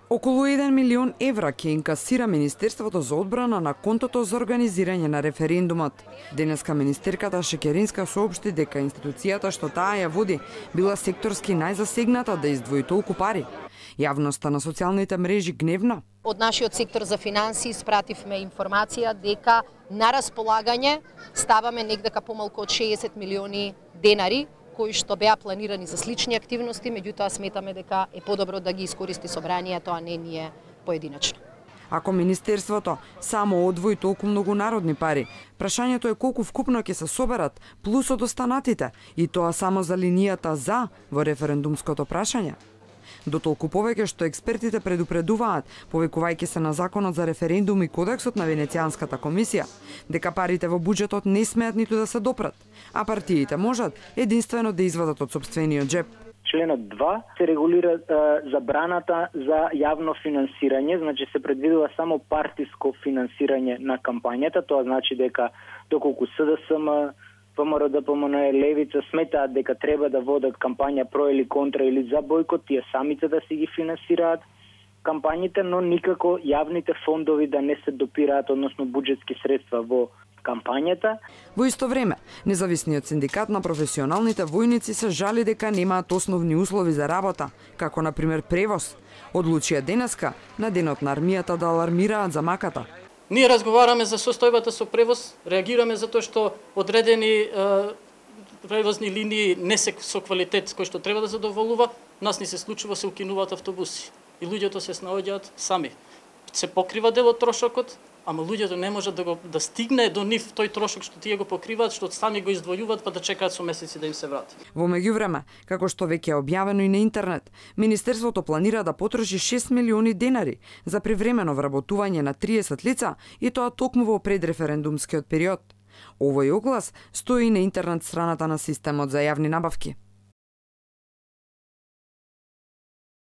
Околу 1 милион евра ќе инкасира Министерството за одбрана на контото за организирање на референдумот. Денеска министерката Шекеринска соопшти дека институцијата што таа ја води била секторски најзасегната да издвои толку пари. Јавноста на социјалните мрежи гневна. Од нашиот сектор за финансии испративме информација дека на располагање ставаме негдека помалку од 60 милиони денари, кои што беа планирани за слични активности, меѓутоа сметаме дека е подобро да ги искористи собранието, а не ние поединечно. Ако Министерството само одвои толку многу народни пари, прашањето е колку вкупно ќе се соберат плюс од останатите, и тоа само за линијата за во референдумското прашање. Дотолку повеќе што експертите предупредуваат, повикувајќи се на Законот за референдум и Кодексот на Венецијанската комисија, дека парите во буџетот не смеат ниту да се допрат, а партиите можат единствено да извадат од сопствениот џеп. Членот 2 се регулира забраната за јавно финансирање, значи се предвидува само партиско финансирање на кампањата, тоа значи дека доколку СДСМ, ВМРО, ДПМН, Левица сметаат дека треба да водат кампања про или контра или за бојкот, тие самите да си ги финансираат кампањите, но никако јавните фондови да не се допираат, односно буџетски средства во кампањата. Во исто време, независниот синдикат на професионалните војници се жали дека немаат основни услови за работа, како на пример превоз. Одлучија денеска на денот на армијата да алармираат за маката. Ние разговараме за состојбата со превоз, реагираме за тоа што одредени превозни линии не се со квалитет кој што треба да задоволува, нас ни се случува се укинуваат автобуси и луѓето се снаоѓаат сами. Се покрива дел од трошокот, ама луѓето не можат да стигне до нив тој трошок што тие го покриваат, што сами го издвојуваат па да чекаат со месеци да им се врати. Во меѓувреме, како што веќе е објавено и на интернет, Министерството планира да потроши 6 милиони денари за привремено вработување на 30 лица и тоа токму во предреферендумскиот период. Овој оглас стои на интернет страната на системот за јавни набавки.